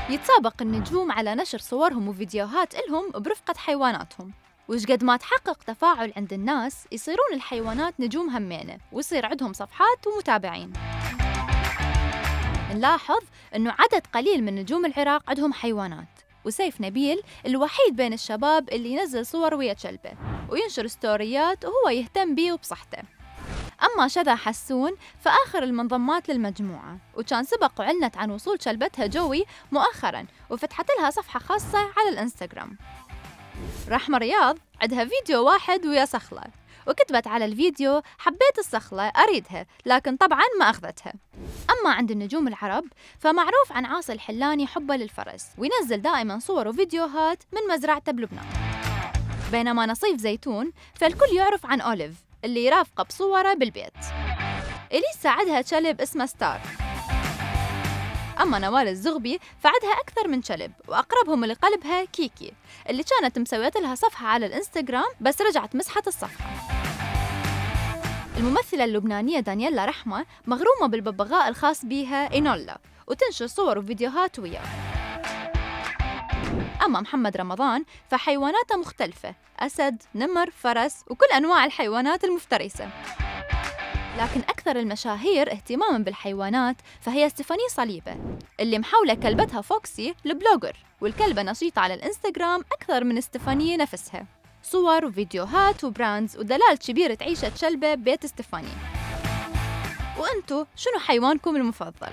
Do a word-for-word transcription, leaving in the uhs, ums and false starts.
يتسابق النجوم على نشر صورهم وفيديوهات إلهم برفقة حيواناتهم، وش قد ما تحقق تفاعل عند الناس يصيرون الحيوانات نجوم همينة ويصير عندهم صفحات ومتابعين. نلاحظ أنه عدد قليل من نجوم العراق عندهم حيوانات، وسيف نبيل الوحيد بين الشباب اللي ينزل صور ويا كلبه وينشر ستوريات وهو يهتم بيه وبصحته. أما شذا حسون فآخر المنضمات للمجموعة، وكان سبق وعلنت عن وصول كلبتها جوي مؤخراً وفتحت لها صفحة خاصة على الإنستغرام. رحمة رياض عندها فيديو واحد ويا صخلة، وكتبت على الفيديو: حبيت الصخلة أريدها لكن طبعاً ما أخذتها. أما عند النجوم العرب فمعروف عن عاصي الحلاني حبه للفرس، وينزل دائماً صور وفيديوهات من مزرعته بلبنان. بينما نصيف زيتون فالكل يعرف عن أوليف اللي يرافقه بصوره بالبيت. إليسا عندها كلب اسمه ستار. أما نوال الزغبي فعندها أكثر من كلب، وأقربهم لقلبها كيكي اللي كانت مسوية لها صفحة على الإنستغرام بس رجعت مسحت الصفحة. الممثلة اللبنانية دانييلا رحمة مغرومة بالببغاء الخاص بيها إينولا وتنشر صور وفيديوهات وياه. أما محمد رمضان فحيواناته مختلفة: أسد، نمر، فرس، وكل أنواع الحيوانات المفترسة. لكن أكثر المشاهير اهتماماً بالحيوانات فهي ستيفاني صليبة اللي محولة كلبتها فوكسي لبلوجر، والكلبة نشيطة على الإنستغرام أكثر من ستيفاني نفسها. صور وفيديوهات وبراندز ودلال كبير تعيشة كلبة ببيت ستيفاني. وأنتو شنو حيوانكم المفضل؟